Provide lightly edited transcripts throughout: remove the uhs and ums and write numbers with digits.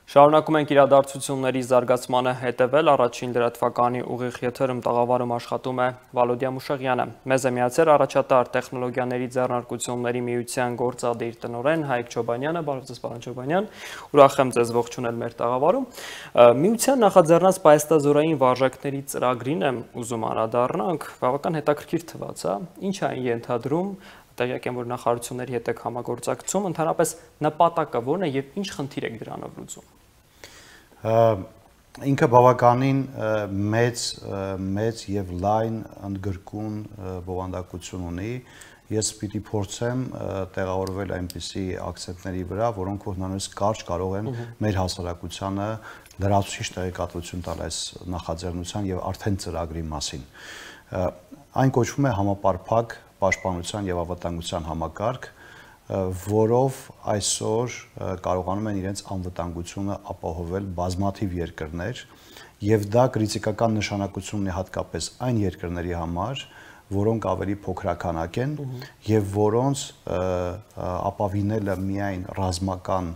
Շարունակում ենք իրադարձությունների զարգացմանը հետևել, առաջին լրատվականի ուղիղ եթերում տաղավարում աշխատում է Վալոդիա Մուշեղյանը։ Մեզ է միացել առաջատար տեխնոլոգիաների ձեռնարկությունների միության գործադիր տնօրեն Հայկ Չոբանյանը, բարև ձեզ պարոն Չոբանյան, ուրախ եմ ձեզ ողջունել մեր տաղավարում։ Միության նախաձեռնած պայստազորային վարժակների ծրագրին եմ ուզում անդրադառնանք, բավական հետաքրքիր թվաց, ինչ է այն ենթադրում, տեղյակ եմ, որ նախարարությունների հետ եք համագործակցում, ընդհանրապես նպատակը ո՞րն է եւ ինչ խնդիր եք դրանով լուծում։ Ինքը բավականին մեծ եւ լայն ընդգրկուն բովանդակություն ունի։ Ես պիտի փորձեմ տեղավորվել այնպիսի ակցենտների վրա, որոնք հնարավորինս կարճ կարող են մեր հասարակությանը լրացուցիչ տեղեկատվություն տալ այս նախաձեռնության եւ արդեն ծրագրի մասին։ Այն կոչվում է համապարփակ պաշտպանության եւ անվտանգության համակարգ, որով այսօր կարողանում են իրենց անվտանգությունը ապահովել բազմաթիվ երկրներ, եւ դա կրիտիկական նշանակություն ունի հատկապես այն երկրների համար, որոնք ավելի փոքրականակ են եւ որոնց ապավինելը միայն ռազմական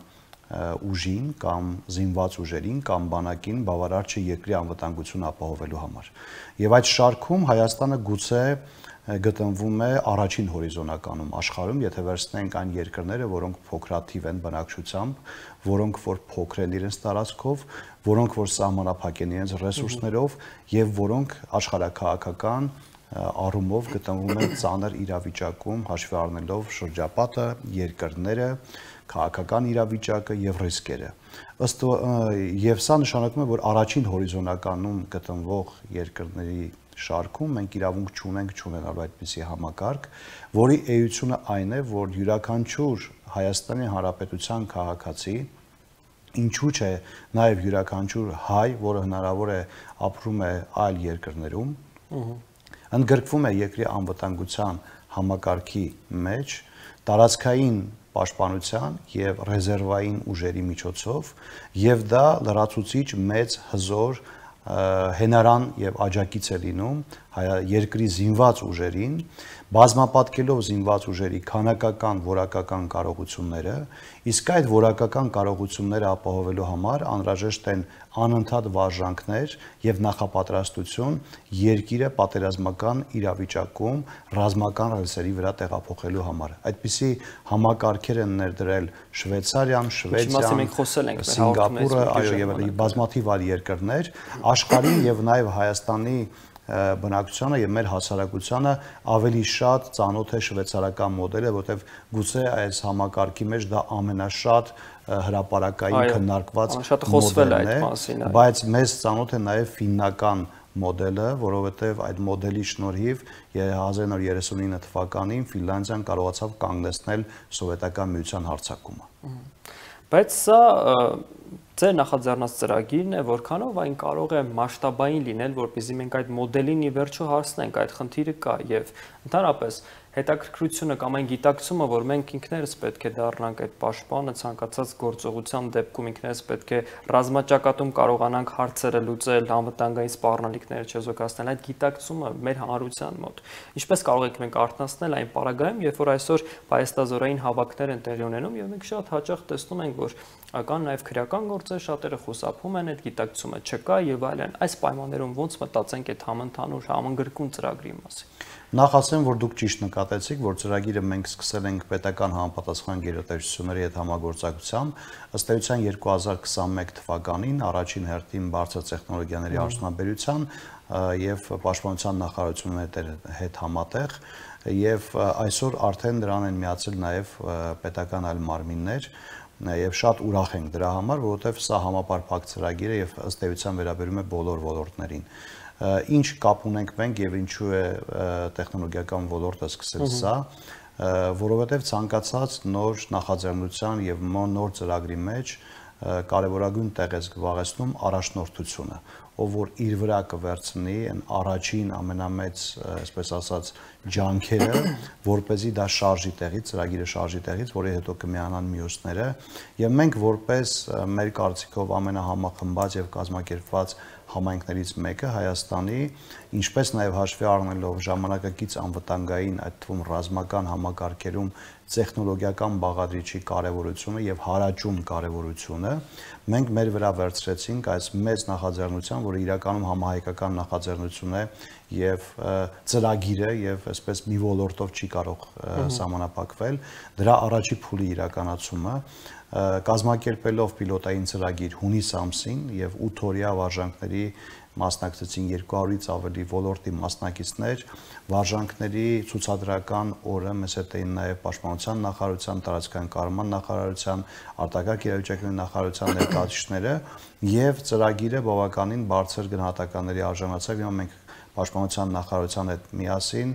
ուժին կամ զինված ուժերին կամ բանակին բավարար չէ երկրի անվտանգությունը ապահովելու համար։ Եվ այդ շարքում Հայաստանը գուցե գտնվում է առաջին հորիզոնականում աշխարհում, եթե վերցնենք այն երկրները, որոնք փոքրաթիվ են բնակչությամբ, որոնք որ փոքր են իրենց տարածքով, որոնք որ սահմանափակ են իրենց ռեսուրսներով եւ որոնք աշխարհաքաղաքական առումով գտնվում են ծանր իրավիճակում, հաշվի առնելով շրջապատը, երկրները, քաղաքական իրավիճակը եւ ռիսկերը։ Եվ սա նշանակում է, որ առաջին հորիզոնականում գտնվող երկրների շարքում մենք իրավունք չունենալու այդպիսի համակարգ, որի էությունը այն է, որ յուրաքանչյուր Հայաստանի Հանրապետության քաղաքացի, ինչու՞ չէ նաև յուրաքանչյուր հայ, որը հնարավոր է ապրում է այլ երկրներում, ընդգրկվում է երկրի անվտանգության համակարգի մեջ, տարածքային պաշտպանության եւ ռեզերվային ուժերի միջոցով, եւ դա լրացուցիչ մեծ հզոր հենարան եւ աջակից է լինում երկրի զինված ուժերին, բազմապատկելով զինված ուժերի քանակական, որակական կարողությունները, իսկ այդ որակական կարողությունները ապահովելու համար անհրաժեշտ են անընդհատ վարժանքներ եւ նախապատրաստություն երկիրը պատերազմական իրավիճակում ռազմական ռեսուրսերի վրա տեղափոխելու համար։ Այդպիսի համակարգեր են ներդրել Շվեյցարիան, Շվեդիան, Սինգապուրը, այո, եւ բազմաթիվ այլ երկրներ, աշխարհի եւ նաեւ Հայաստանի բնակչությանը եւ մեր հասարակությանը ավելի շատ ծանոթ է շվեյցարական մոդելը, որտեղ գուցե այս համակարգի մեջ դա ամենաշատ հրապարակային քննարկված մոդելն է, բայց մեզ ծանոթ է նաեւ ֆիննական մոդելը, որովհետեւ այդ մոդելի շնորհիվ 1939 թվականին Ֆինլանդիան կարողացավ կանգնեցնել սովետական միության հարձակումը։ Բայց սա ձեր նախաձեռնած ծրագիրն է, որքանով այն կարող է մասշտաբային լինել, որպեսզի մենք այդ մոդելին ի վերջո հասնենք, այդ խնդիրը կա եւ ընդհանրապես հետաքրքրությունը կամ այն գիտակցումը, որ մենք ինքներս պետք է դառնանք այդ պաշտպանը ցանկացած գործողության դեպքում ինքներս պետք է ռազմաճակատում կարողանանք հարցերը լուծել, անվտանգային սպառնալիքները չեզոքացնել, այդ գիտակցումը մեր հանրության մոտ։ Ինչպես կարող ենք մենք արթնացնել այն պարագայում, երբ որ այսօր պայստազորային հավաքներ են տեղի ունենում եւ մենք շատ հաճախ տեսնում ենք, որ կան նաև քրեական գործեր, շատերը խուսափում են, այդ գիտակցումը չկա եւ այլն։ Այս պայմաններում ոնց մտածենք այդ համընդհանուր համընկրկուն ծրագրի մասին։ Նախ ասեմ, որ դուք ճիշտ նկատեցիք, որ ծրագիրը մենք սկսել ենք պետական համապատասխան գերատեսչությունների հետ համագործակցությամբ, ըստ էության 2021 թվականին առաջին հերթին բարձր տեխնոլոգիաների արդյունաբերության եւ պաշտպանության նախարարությունների հետ համատեղ եւ այսօր արդեն դրան են միացել նաեւ պետական այլ մարմիններ եւ շատ ուրախ ենք դրա համար, որովհետեւ սա համապարփակ ծրագիր է եւ ըստ էության վերաբերում է բոլոր ոլորտներին։ Ինչ կապ ունենք մենք եւ ինչու է տեխնոլոգիական ոլորտը սկսել սա, որովհետեւ ցանկացած նոր նախաձեռնության եւ նոր ծրագրի մեջ կարևորագույն տեղ է զբաղեցնում առաջնորդությունը, ով որ իր վրա կվերցնի այն առաջին ամենամեծ, այսպես ասած, ջանքերը, որպեսզի դա շարժի տեղից, ծրագիրը շարժի տեղից, որի հետո կմիանան մյուսները, եւ մենք որպես մեր կարծիքով ամենահամախմբած եւ կազմակերպված համայնքներից մեկը Հայաստանի, ինչպես նաև հաշվի առնելով ժամանակակից անվտանգային, այդ թվում ռազմական համակարգերում տեխնոլոգիական բաղադրիչի կարևորությունը եւ հարաճուն կարևորությունը, մենք մեր վրա վերցրեցինք այս մեծ նախաձեռնության, որը իրականում համահայկական նախաձեռնություն է եւ ծրագիր է եւ այսպես մի ոլորտով չի կարող սահմանափակվել, դրա առաջի փուլի իրականացումը կազմակերպելով պիլոտային ծրագիր հունիս ամսին եւ 8 օրյա վարժանքների մասնակցեցին 200-ից ավելի ոլորտի մասնակիցներ, վարժանքների ցուցադրական օրը մեզ հետ էին նաև Պաշտպանության նախարարության, տարածքային կառավարման նախարարության, արտակարգ իրավիճակների նախարարության ներկայացուցիչները եւ ծրագիրը բավականին բարձր գնահատականների արժանացավ։ Հիմա մենք Պաշտպանության նախարարության հետ միասին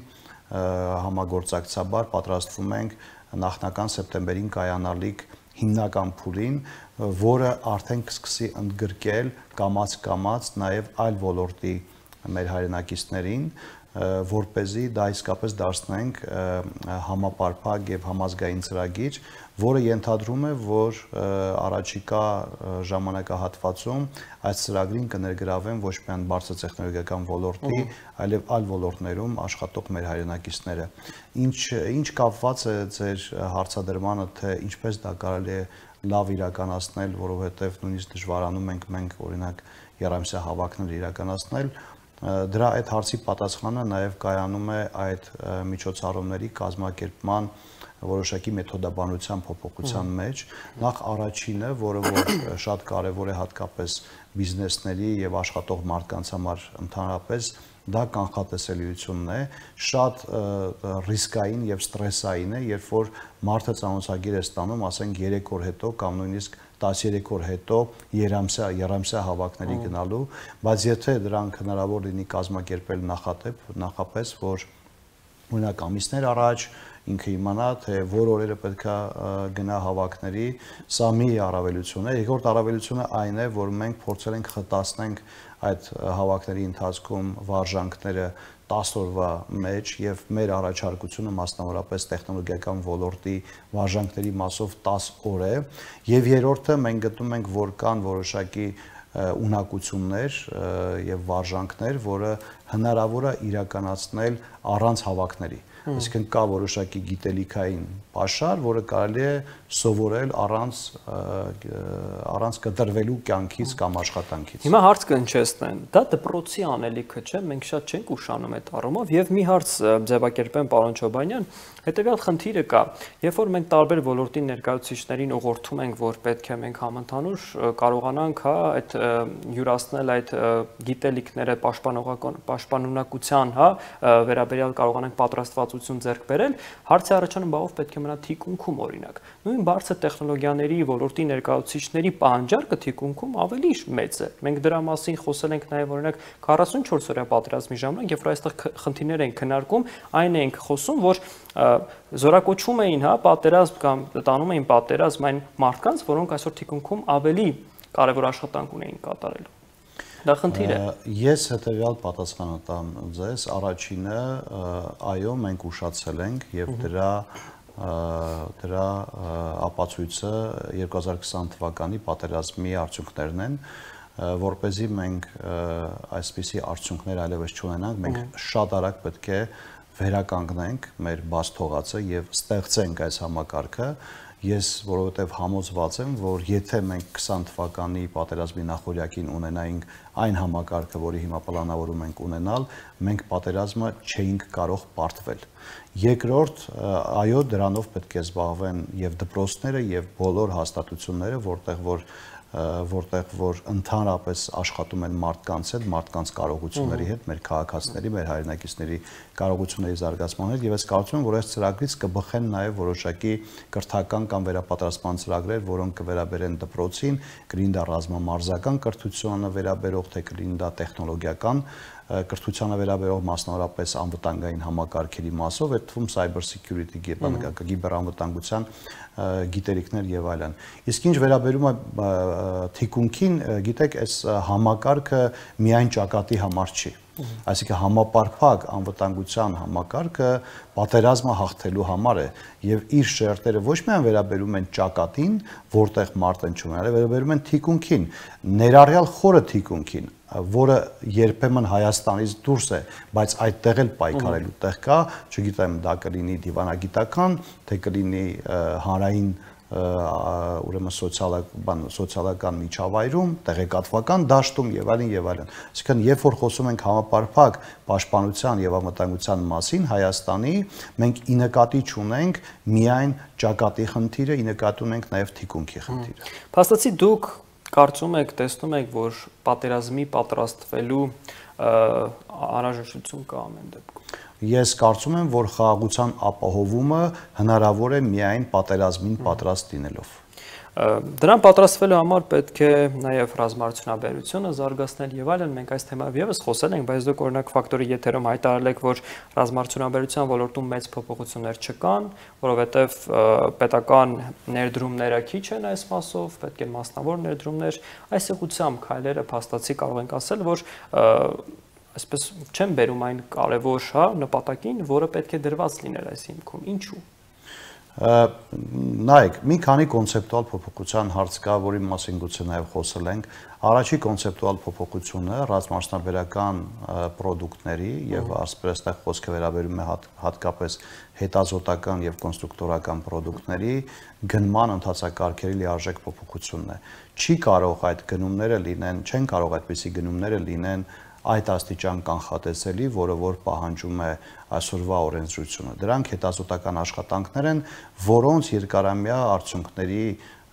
համագործակցաբար պատրաստվում ենք նախնական սեպտեմբերին կայանալիք հիմնական փուլին, որը արդեն կսկսի ընդգրկել կամաց նաև այլ ոլորտի մեր հայրենակիցներին, որպեսզի դա իսկապես դարձնենք համապարփակ եւ համազգային ծրագիր, որը ենթադրում է, որ առաջիկա ժամանակահատվածում այս ծրագրին կներգրավեն ոչ միայն բարձր տեխնոլոգիական ոլորտի, այլև այլ ոլորտներում աշխատող մեր հայրենակիցները։ Ինչ կապված է ձեր հարցադրմանը, թե ինչպես դա կարելի է լավ իրականացնել, որովհետև նույնիսկ դժվարանում ենք մենք օրինակ երամսյա հավաքներ իրականացնել, դրա այդ հարցի պատասխանը նաև կայանում է այդ միջոցառումների կազմակերպման որոշակի մեթոդաբանության փոփոխության մեջ, նախ առաջինը, որը որ շատ կարևոր է հատկապես բիզնեսների եւ աշխատող մարդկանց համար ընդհանրապես, դա կանխատեսելիությունն է, շատ ռիսկային եւ ստրեսային է, երբ որ մարդը ծանոթագիր է ստանում, ասենք 3 օր հետո կամ նույնիսկ 13 օր հետո երամսյա հավաքների գնալու, բայց եթե դրանք հնարավոր լինի կազմակերպել նախապես, որ օրինակ ամիսներ առաջ ինքը իմանա, թե որ օրերը պետք է գնա հավաքների, սա մի առավելություն է։ Երկրորդ առավելությունը այն է, որ մենք փորձել ենք խտացնենք այդ հավաքների ընթացքում վարժանքները 10 օրվա մեջ եւ մեր առաջարկությունը մասնավորապես տեխնոլոգիական ոլորտի վարժանքների մասով 10 օր է եւ երրորդը մենք գտնում ենք, որ կան որոշակի ունակություններ եւ վարժանքներ, որը հնարավոր է իրականացնել առանց հավաքների։ Այսինքն կա որոշակի գիտելիքային պաշար, որը կարելի է սովորել առանց կտրվելու կյանքից կամ աշխատանքից։ Հիմա հարց կհնչեցնեն, դա դպրոցի անելիքը չէ, մենք շատ չենք ուշանում այդ առումով եւ մի հարց ձևակերպեմ պարոն Չոբանյան, հետեւյալ խնդիրը կա, երբ որ մենք տարբեր ոլորտի ներկայացուցիչներին ուղղորդում ենք, որ պետք է մենք համընդհանուր կարողանանք այդ յուրացնել այդ գիտելիքները պաշտպանունակության, վերաբերյալ կարողանանք պատրաստվածություն ձեռք բերել, հարցը առաջանում բաղով պետք է մնա թիկունքում օրինակ։ Նույն բարձր տեխնոլոգիաների ոլորտի ներկայացուցիչների պահանջարկը թիկունքում ավելի մեծ է։ Մենք դրա մասին խոսել ենք նաև օրինակ 44 օրյա պատերազմի ժամանակ, երբ որ այստեղ խնդիրներ են քննարկում, այն ենք խոսում, որ զորակոչում էին, պատերազմ կամ տանում էին պատերազմ այն մարդկանց, որոնք այսօր թիկունքում ավելի կարևոր աշխատանք ունեին կատարելու։ Դա խնդիր է։ Ես հետեւյալ պատասխանը տամ ձեզ, առաջինը, այո, մենք ուշացել ենք եւ դրա ապացույցը 2020 թվականի պատերազմի արդյունքներն են, որպեսզի մենք այսպիսի արդյունքներ այլևս չունենանք, մենք շատ արագ պետք է վերականգնենք մեր բաց թողածը եւ ստեղծենք այս համակարգը։ Ես որովհետև համոզված եմ, որ եթե մենք 20 թվականի պատերազմի նախօրյակին ունենայինք այն համակարգը, որի հիմա պլանավորում ենք ունենալ, մենք պատերազմը չէինք կարող պարտվել։ Երկրորդ, այո, դրանով պետք է զբաղվեն եւ դպրոցները եւ բոլոր հաստատությունները, որտեղ որ ընդհանրապես աշխատում են մարդկանց հետ, մարդկանց կարողությունների հետ, մեր քաղաքացիների, մեր հայրենակիցների կարողությունների զարգացման հետ, եւ ես կարծում եմ, որ այս ծրագրից կբխեն նաեւ որոշակի կրթական կամ վերապատրաստման ծրագրեր, որոնք կվերաբերեն դպրոցին, կլինի դա ռազմամարզական կրթությանը վերաբերող, թե կլինի դա տեխնոլոգիական կրթությանը վերաբերող մասնավորապես անվտանգային համակարգերի մասով, այդ թվում cyber security, կիբերանվտանգության գիտելիքներ եւ այլն։ Իսկ ինչ վերաբերում է թիկունքին, գիտեք, այս համակարգը միայն ճակատի համար չի։ Այսինքն համապարփակ անվտանգության համակարգը պատերազմը հաղթելու համար է եւ իր շերտերը ոչ միայն վերաբերում են ճակատին, որտեղ մարդը չունի, այլ վերաբերում են թիկունքին, ներառյալ խորը թիկունքին, որը երբեմն Հայաստանից դուրս է, բայց այդտեղ էլ պայքարելու տեղ կա, չգիտեմ, դա կլինի դիվանագիտական, թե կլինի հանրային ուրեմն սոցիալական միջավայրում, տեղեկատվական դաշտում եւ այլն եւ այլն։ Այսինքն, երբ որ խոսում ենք համապարփակ պաշտպանության եւ անվտանգության մասին Հայաստանի, մենք ի նկատի չունենք միայն ճակատի խնդիրը, ի նկատի ունենք նաեւ թիկունքի խնդիրը։ Փաստացի դուք կարծում եք, տեսնում եք, որ պատերազմի պատրաստվելու անհրաժեշտություն կա ամեն դեպքում։ Ես կարծում եմ, որ խաղաղության ապահովումը հնարավոր է միայն պատերազմին պատրաստ լինելով։ Դրան պատրաստվելու համար պետք է նաև ռազմարդյունաբերությունը զարգացնել եւ այլն, մենք այս թեմայով եւս խոսել ենք, բայց դուք օրինակ ֆակտորի եթերում հայտարարել եք, որ ռազմարդյունաբերության ոլորտում մեծ փոփոխություններ չկան, որովհետեւ պետական ներդրումները քիչ են այս մասով, պետք է մասնավոր ներդրումներ, այս ուղղությամբ քայլերը փաստացի կարող ենք ասել, որ այսպես չեմ բերում այն կարևոր նպատակին, որը պետք է դրված լիներ այս հիմքում։ Ինչու՞։ Նայեք, մի քանի կոնցեպտուալ փոփոխության հարց կա, որի մասին գուցե նաև խոսել ենք։ Առաջի կոնցեպտուալ փոփոխությունը ռազմաճնաբերական պրոդուկտների եւ ասպրեստեղ խոսքը վերաբերում է հատկապես հետազոտական եւ կոնստրուկտորական պրոդուկտների գնման ընթացակարգերի լիարժեք փոփոխությունն է։ Չի կարող այդ գնումները լինեն, չեն կարող այդպիսի գնումները լինեն այդ աստիճան կանխատեսելի, որը որ պահանջում է այսօրվա օրենսդրությունը։ Դրանք հետազոտական աշխատանքներ են, որոնց երկարամյա արդյունքների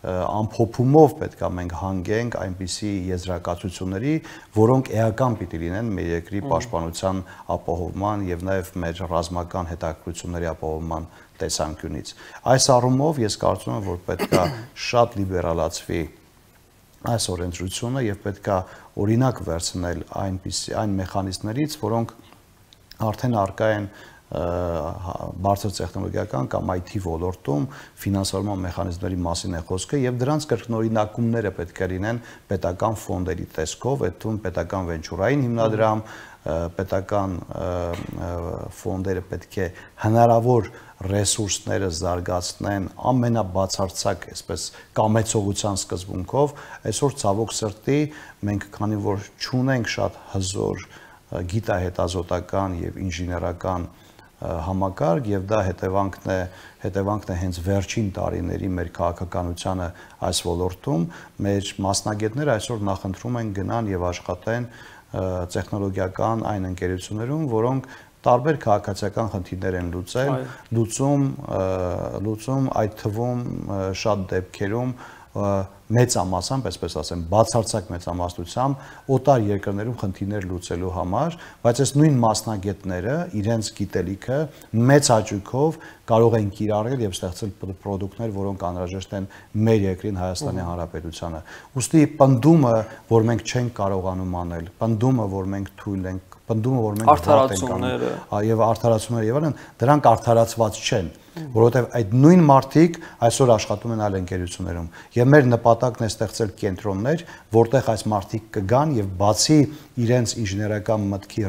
ամփոփումով պետք է մենք հանգենք այնպիսի եզրակացությունների, որոնք էական պիտի լինեն մեր երկրի պաշտպանության ապահովման եւ նաեւ մեր ռազմական հետաքրքրությունների ապահովման տեսանկյունից։ Այս առումով ես կարծում եմ, որ պետք է շատ լիբերալացվի այս օրենսդրությունը եւ պետք է օրինակ վերցնել այն մեխանիզմներից, որոնք արդեն առկա են բարձր տեխնոլոգիական կամ IT ոլորտում ֆինանսավորման մեխանիզմների մասին է խոսքը եւ դրանց կրկնօրինակումները պետք է լինեն պետական ֆոնդերի տեսքով, այդ թվում պետական վենչուրային հիմնադրամ, պետական ֆոնդերը պետք է հնարավոր ռեսուրսները զարգացնեն ամենաբացարձակ, այսպես կամեցողության սկզբունքով, այսօր ցավոք սրտի մենք քանի որ չունենք շատ հզոր գիտահետազոտական եւ ինժեներական համակարգ եւ դա հետևանքն է հենց վերջին տարիների մեր քաղաքականությանը այս ոլորտում մեր մասնագետները այսօր նախընտրում են գնան եւ աշխատեն տեխնոլոգիական այն ընկերություններում, որոնք տարբեր քաղաքացիական խնդիրներ են լուծում այդ թվում շատ դեպքերում մեծամասամբ, այսպես ասեմ, բացարձակ մեծամասնությամբ օտար երկրներում խնդիրներ լուծելու համար, բայց այս նույն մասնագետները իրենց գիտելիքը մեծ հաճույքով կարող են կիրառել եւ ստեղծել պրոդուկտներ, որոնք անհրաժեշտ են մեր երկրին Հայաստանի Հանրապետությանը։ Ուստի պնդումը, որ մենք չենք կարողանում անել, պնդումը, որ մենք թույլ ենք, պնդումը, որ մենք արդարացումները եւ արդարացումները եւ այլն, դրանք արդարացված չեն, որովհետեւ այդ նույն մարդիկ այսօր աշխատում են այլ ընկերություններում եւ մեր նպատակն է ստեղծել կենտրոններ, որտեղ այս մարդիկ կգան եւ բացի իրենց ինժեներական մտքի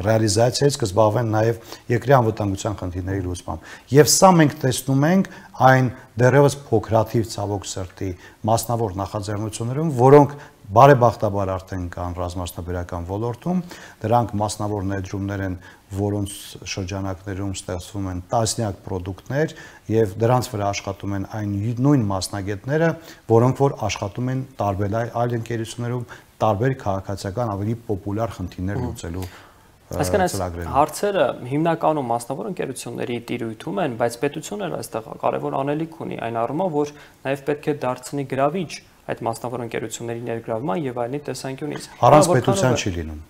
ռեալիզացիայից կզբաղվեն նաեւ երկրի անվտանգության խնդիրների լուծմամբ։ Եվ սա մենք տեսնում ենք այն դեռևս փոքրաթիվ ցավոք սրտի մասնավոր նախաձեռնություններում, որոնք բարեբախտաբար արդեն կան ռազմաճնաբերական ոլորտում, դրանք մասնավոր ներդրումներ են, որոնց շրջանակներում ստեղծվում են տասնյակ պրոդուկտներ եւ դրանց վրա աշխատում են այն նույն մասնագետները, որոնք որ աշխատում են տարբեր այլ ընկերություններում, տարբեր քաղաքացիական ավելի պոպուլյար խնդիրներ լուծելու Այսինքն այս հարցերը հիմնականում մասնավոր ընկերությունների տիրույթում են, բայց պետությունն էլ այստեղ կարևոր անելիք ունի այն առումով, որ նաև պետք է դարձնի գրավիչ այդ մասնավոր ընկերությունների ներգրավման եւ այլնի տեսանկյունից։ Առանց պետության չի լինում։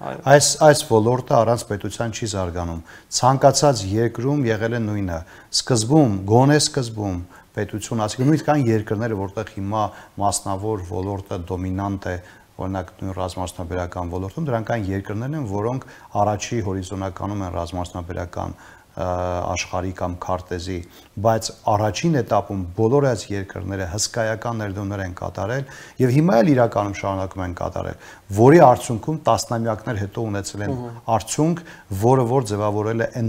Այս ոլորտը առանց պետության չի զարգանում։ Ցանկացած երկրում եղել է նույնը։ Սկզբում, գոնե սկզբում պետություն, ասիկա նույնիսկ կան երկրներ, որտեղ հիմա մասնավոր ոլորտը դոմինանտ է, օրինակ նույն ռազմաճնաբերական ոլորտում, դրանք այն երկրներն են, որոնք առաջի հորիզոնականում են ռազմաճնաբերական աշխարհի կամ քարտեզի, բայց առաջին этаպում բոլոր այս երկրները հսկայական ներդրումներ են կատարել եւ հիմա էլ իրականում շարունակում են կատարել, որի արդյունքում տասնամյակներ հետո ունեցել են արդյունք, որը որ ձևավորել է այն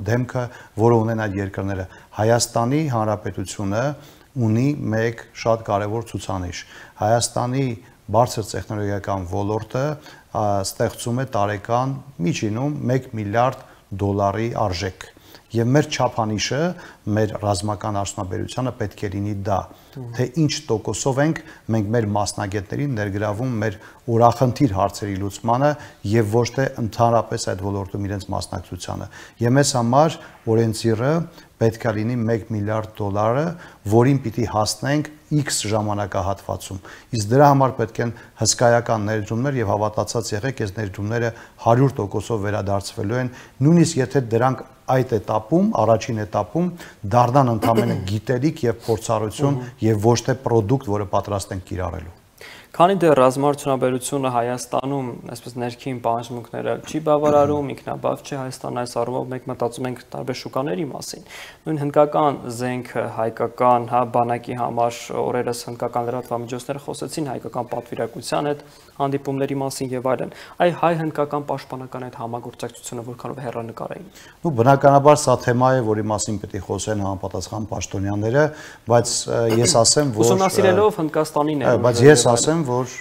դեմքը, որը ունեն այդ երկրները։ Հայաստանի Հանրապետությունը ունի մեկ շատ կարևոր ցուցանիշ։ Հայաստանի բարձր տեխնոլոգիական ոլորտը ստեղծում է տարեկան միջինում 1 միլիարդ դոլարի արժեք։ Եվ մեր չափանիշը, մեր ռազմական արդյունաբերությունը պետք է լինի դա, թե ինչ տոկոսով ենք մենք մեր մասնագետներին ներգրավում մեր օրախնդիր հարցերի լուծմանը եւ ոչ թե ընդհանրապես այդ ոլորտում իրենց մասնակցությանը։ Եվ մեզ համար օրենսիրը պետք է լինի 1 միլիարդ դոլարը, որին պիտի հասնենք X ժամանակահատվածում։ Իսկ դրա համար պետք են հսկայական ներդրումներ եւ հավատացած եղեք, այս ներդրումները 100%-ով վերադարձվելու են, նույնիսկ եթե դրանք այդ этаպում, առաջին этаպում դառնան ընդհանրապես գիտելիք եւ փորձառություն եւ ոչ թե product, որը պատրաստ ենք կիրառելու։ Քանի դեռ ռազմաարդյունաբերությունը Հայաստանում, այսպես ներքին պահանջմունքները չի բավարարում, ինքնաբավ չէ Հայաստանը, այս առումով մենք մտածում ենք տարբեր շուկաների մասին։ Նույն հնդկական զենքը, հայկական, բանակի համար օրերս հնդկական լրատվամիջոցները խոսեցին հայկական պատվիրակության հետ հանդիպումների մասին եւ այլն։ Այ հայ-հնդկական պաշտպանական այդ համագործակցությունը որքանով հեռանկար էին։ Ну բնականաբար սա թեմա է, որի մասին պետք է խոսեն համապատասխան պաշտոնյաները, բայց ես ասեմ, որ ուսումնասիրելով Հնդկաստանին է։ Բայց ես ասեմ, որ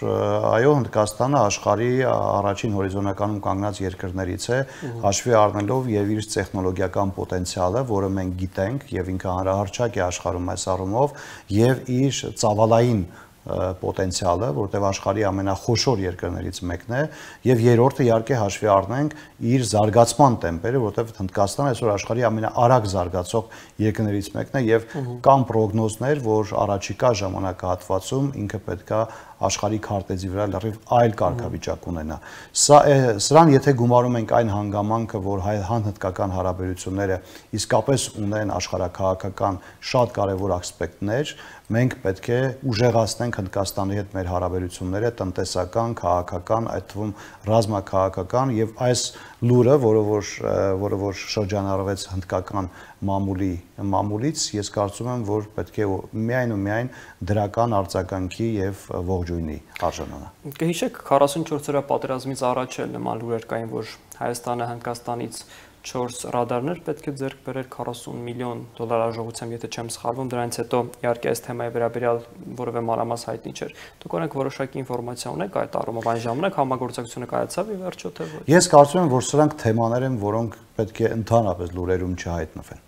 այո, Հնդկաստանը աշխարհի առաջին հորիզոնականում կանգնած երկրներից է, հաշվի առնելով եւ իր տեխնոլոգիական պոտենցիալը, որը մենք գիտենք եւ ինքը հանրահարչակ է աշխարհում այս առումով, եւ իր ծավալային պոտենցիալը, որտեղ աշխարհի ամենախոշոր երկրներից մեկն է, եւ երրորդը իհարկե հաշվի առնենք իր զարգացման տեմպերը, որտեղ Հնդկաստանը այսօր աշխարհի ամենաարագ զարգացող երկրներից մեկն է եւ կան պրոգնոզներ, որ առաջիկա ժամանակահատվածում ինքը պետքա աշխարհի քարտեզի վրա լրիվ այլ կարգավիճակ ունենա։ Սրան եթե գումարում ենք այն հանգամանքը, որ հայ-հնդկական հարաբերությունները իսկապես ունեն աշխարհաքաղաքական շատ կարևոր ասպեկտներ, մենք պետք է ուժեղացնենք Հնդկաստանի հետ մեր հարաբերությունները տնտեսական, քաղաքական, այդ թվում ռազմաքաղաքական եւ այս լուրը, որը որ շրջանառվեց հնդկական մամուլից, ես կարծում եմ, որ պետք է միայն ու միայն դրական արձագանքի եւ ողջույնի արժանանա։ Կհիշեք 44 օրյա պատերազմից առաջ էլ նման լուրեր կային, որ Հայաստանը Հնդկաստանից 4 ռադարներ պետք է ձեռք բերել 40 միլիոն դոլար արժողությամբ, եթե չեմ սխալվում, դրանից հետո իհարկե այս թեմայի վերաբերյալ որևէ մանրամաս հայտնի չէր։ Դուք օրենք որոշակի ինֆորմացիա ունեք այդ առումով, այն ժամանակ համագործակցությունը կայացավ ի վերջո թե ոչ։ Ես կարծում եմ, որ սրանք թեմաներ են, որոնք պետք է ընդհանրապես լուրերում չհայտնվեն։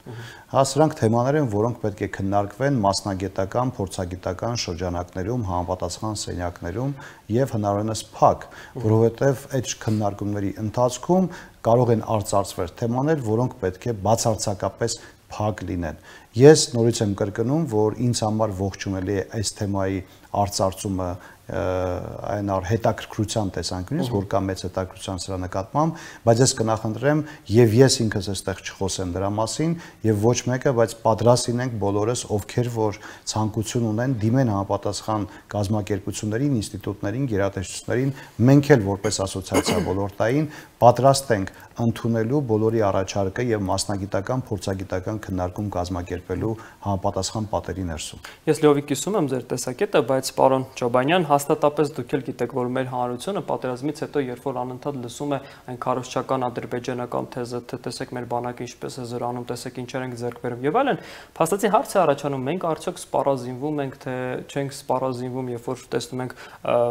Հա, սրանք թեմաներ են, որոնք պետք է քննարկվեն մասնագիտական, փորձագիտական շրջանակներում, համապատասխան սենյակներում եւ հնարավորինս փակ, որովհետեւ այդ քննարկումների ընթացքում կարող են արծարծվել թեմաներ, որոնք պետք է բացարձակապես փակ լինեն։ Ես նորից եմ կրկնում, որ ինձ համար ողջունելի է այս թեմայի արծարծումը այն հետաքրքրության տեսանկյունից, որ կա մեծ հետաքրքրության սրա նկատմամբ, բայց ես կնախընտրեմ եւ ես ինքս այստեղ չխոսեմ դրա մասին եւ ոչ մեկը, բայց պատրաստ լինենք բոլորս, ովքեր որ ցանկություն ունեն դիմեն համապատասխան կազմակերպություններին, ինստիտուտներին, գերատեսչություններին, մենք էլ որպես ասոցիացիա ոլորտային պատրաստ ենք ընդունելու բոլորի առաջարկը եւ մասնագիտական, փորձագիտական քննարկում կազմակերպելու համապատասխան պատերի ներսում։ Ես լիովին կիսում եմ ձեր տեսակետը, բայց պարոն Ջոբանյան, հաստատապես դուք էլ գիտեք, որ մեր հանրությունը պատերազմից հետո երբ որ անընդհատ լսում է այն քարոզչական ադրբեջանական թեզը, թե տեսեք մեր բանակը ինչպես է զրանում, տեսեք ինչեր ենք ձեռք բերում եւ այլն, փաստացի հարց է առաջանում, մենք արդյոք սպառազինվում ենք, թե չենք սպառազինվում, երբ որ տեսնում ենք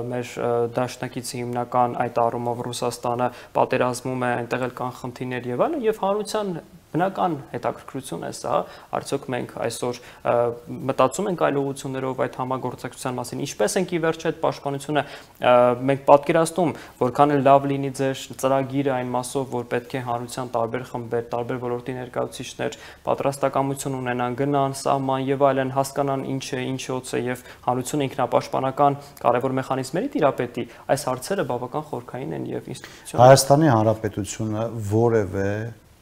մեր դաշնակիցի հիմնական այդ առումով Ռուսաստանը պատերազմում է, այնտեղ էլ կան խնդիրներ եւ այլն, եւ հանրության բնական հետաքրքրություն է սա, արդյոք մենք այսօր մտածում ենք այլ ուղղություններով այդ համագործակցության մասին, ինչպես ենք ի վերջո այդ պաշտպանությունը մենք պատկերացնում, որքան էլ լավ լինի ձեր ծրագիրը այն մասով, որ պետք է հանրության տարբեր խմբեր, տարբեր ոլորտի ներկայացուցիչներ պատրաստակամություն ունենան, գնան, սահման եւ այլն, հասկանան ինչ է, ինչոց է եւ հանրությունը ինքնապաշտպանական կարևոր մեխանիզմների տիրապետի, այս հարցերը բավական խորքային են եւ ինստիտուցիոնալ։ Հայաստանի Հանրապետությունը որևէ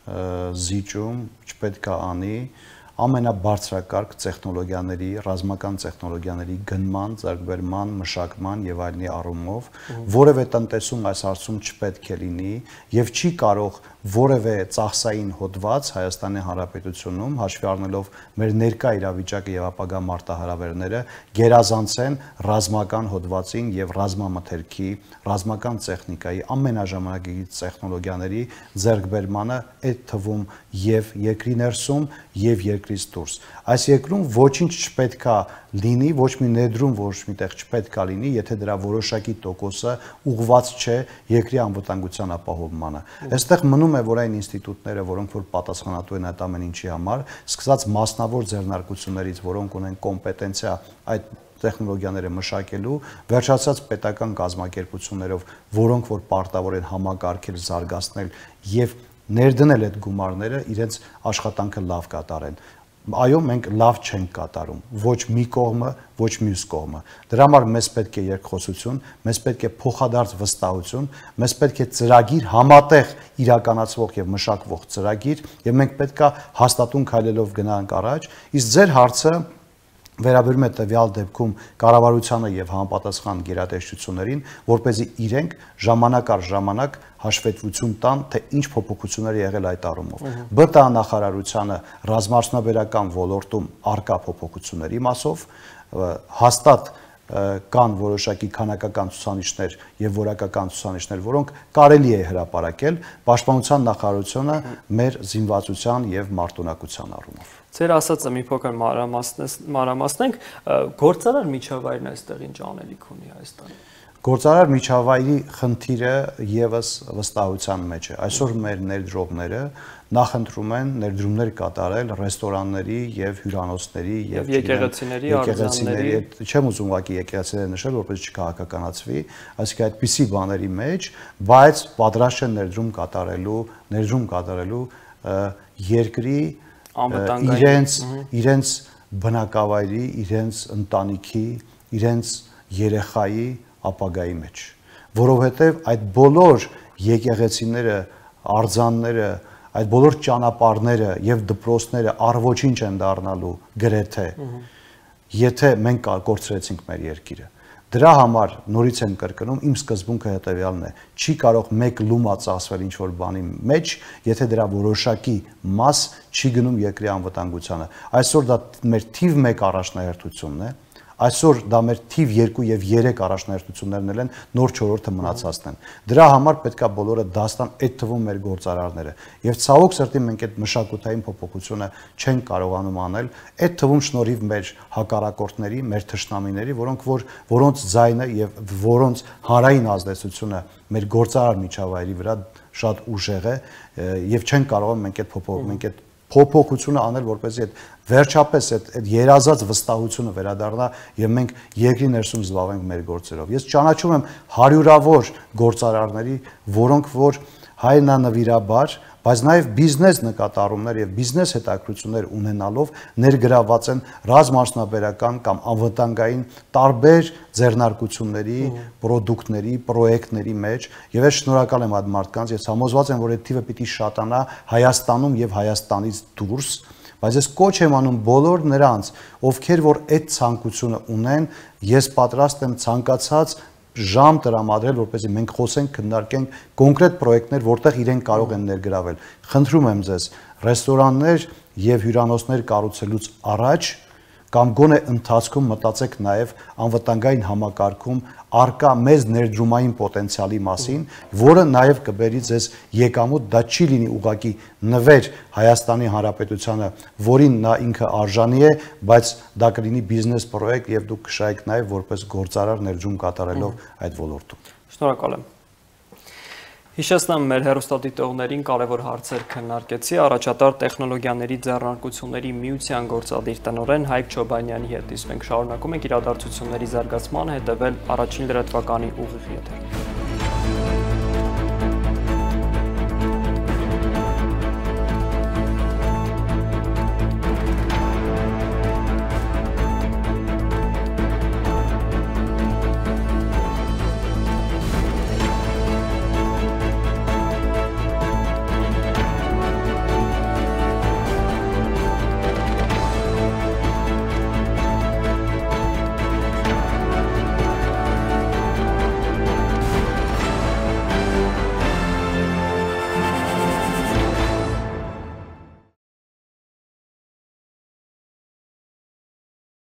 զիջում չպետք է անի ամենաբարձրակարգ տեխնոլոգիաների, ռազմական տեխնոլոգիաների գնման, ձեռքբերման, մշակման եւ այլնի առումով, որևէ տնտեսում այս հարցում չպետք է լինի եւ չի կարող որևէ ծախսային հոդված Հայաստանի Հանրապետությունում, հաշվի առնելով մեր ներկա իրավիճակը եւ ապագա մարտահրավերները, գերազանցեն ռազմական հոդվածին եւ ռազմամթերքի, ռազմական տեխնիկայի, ամենաժամանակակից տեխնոլոգիաների ձեռքբերմանը, այդ թվում եւ երկրի ներսում եւ երկրից դուրս։ Այս երկրում ոչինչ չպետքա լինի, ոչ մի ներդրում ոչ միտեղ չպետքա լինի, եթե դրա որոշակի տոկոսը ուղղված չէ երկրի անվտանգության ապահովմանը։ Այստեղ մնում է, որ այն ինստիտուտները, որոնք որ պատասխանատու են այդ ամեն ինչի համար, սկսած մասնավոր ձեռնարկություններից, որոնք ունեն կոմպետենցիա այդ տեխնոլոգիաները մշակելու, վերջացած պետական կազմակերպություններով, որոնք որ պարտավոր են համակարգել, զարգացնել եւ ներդնել այդ գումարները իրենց աշխատանքը լավ կատարեն։ Այո, մենք լավ չենք կատարում, ոչ մի կողմը, ոչ մյուս կողմը։ Դրա համար մեզ պետք է երկխոսություն, մեզ պետք է փոխադարձ վստահություն, մեզ պետք է ծրագիր համատեղ իրականացվող եւ մշակվող ծրագիր, եւ մենք պետք է հաստատուն քայլելով գնանք առաջ, իսկ ձեր հարցը վերաբերում է տվյալ դեպքում կառավարությանը եւ համապատասխան գերատեսչություններին, որպեսզի իրենք ժամանակ առ ժամանակ հաշվետվություն տան, թե ինչ փոփոխություններ եղել այդ առումով։ ԲՏԱ նախարարությանը ռազմաարդյունաբերական ոլորտում արկա փոփոխությունների մասով հաստատ կան որոշակի քանակական ցուցանիշներ եւ որակական ցուցանիշներ, որոնք կարելի է հրապարակել պաշտպանության նախարարությունը մեր զինվածության եւ մարտունակության առումով։ Ձեր ասածը մի փոքր մանրամասնենք, գործարար միջավայրն այստեղ ինչ անելիք ունի Հայաստանում։ Գործարար միջավայրի խնդիրը եւս վստահության մեջ է։ Այսօր մեր ներդրողները նախընտրում են ներդրումներ կատարել ռեստորանների եւ հյուրանոցների եւ եկեղեցիների, արձանների, չեմ ուզում ուղղակի եկեղեցիները նշել, որպես չքաղաքականացվի, այսինքն այդպիսի բաների մեջ, բայց պատրաստ են ներդրում կատարելու երկրի իրենց բնակավայրի, իրենց ընտանիքի, իրենց երեխայի ապագայի մեջ, որովհետև այդ բոլոր եկեղեցիները, արձանները, այդ բոլոր ճանապարհները եւ դպրոցները առ ոչինչ են դառնալու գրեթե, եթե մենք կորցրեցինք մեր երկիրը։ Դրա համար նորից եմ կրկնում, իմ սկզբունքը հետեւյալն է. չի կարող մեկ լումա ծախսվել ինչ-որ բանի մեջ, եթե դրա որոշակի մաս չի գնում երկրի անվտանգությանը։ Այսօր դա մեր թիվ 1 առաջնահերթությունն է։ Այսօր դա մեր թիվ 2 եւ 3 առաջնահերթություններն են, նոր 4-ը մնացածն են։ Դրա համար պետքա բոլորը դաստան այդ թվում մեր գործարարները։ Եվ ցավոք սրտի մենք այդ մշակութային փոփոխությունը չենք կարողանում անել, այդ թվում շնորհիվ մեր հակառակորդների, մեր թշնամիների, որոնց ձայնը եւ որոնց հանրային ազդեցությունը մեր գործարար միջավայրի վրա շատ ուժեղ է եւ չենք կարողանում մենք այդ փոփոխությունը անել, որպեսզի այդ վերջապես այդ երազած վստահությունը վերադառնա եւ մենք երկրի ներսում զբաղվենք մեր գործերով։ Ես ճանաչում եմ հարյուրավոր գործարարների, որոնք որ հայրենանվիրաբար, բայց նաեւ բիզնես նկատառումներ եւ բիզնես հետաքրություններ ունենալով ներգրաված են ռազմաարդյունաբերական կամ անվտանգային տարբեր ձեռնարկությունների, պրոդուկտների, պրոյեկտների մեջ եւ ես շնորհակալ եմ այդ մարդկանց, ես համոզված եմ, որ այդ թիվը պիտի շատանա Հայաստանում եւ Հայաստանից դուրս, բայց ես կոչ եմ անում բոլոր նրանց, ովքեր որ այդ ցանկությունը ունեն, ես պատրաստ եմ ցանկացած ժամ տրամադրել, որպեսզի մենք խոսենք, քննարկենք կոնկրետ պրոյեկտներ, որտեղ իրենք կարող են ներգրավել։ Խնդրում եմ ձեզ, ռեստորաններ եւ հյուրանոցներ կառուցելուց առաջ կամ գոնե ընթացքում մտածեք նաև անվտանգային համակարգում արկա մեծ ներդրումային պոտենցիալի մասին, որը նաև կբերի ձեզ եկամուտ, դա չի լինի ուղղակի նվեր Հայաստանի Հանրապետությանը, որին նա ինքը արժանի է, բայց դա կլինի բիզնես պրոյեկտ եւ դուք կշահեք նաև որպես գործարար ներդրում կատարելով այդ ոլորտում։ Շնորհակալ եմ։ Հիշեցնեմ մեր հեռուստադիտողներին կարևոր հարցեր քննարկեցի առաջատար տեխնոլոգիաների ձեռնարկությունների միության գործադիր տնօրեն Հայկ Չոբանյանի հետ։ Իսկ մենք շարունակում ենք իրադարձությունների զարգացմանը հետևել առաջին լրատվականի ուղիղ եթերում։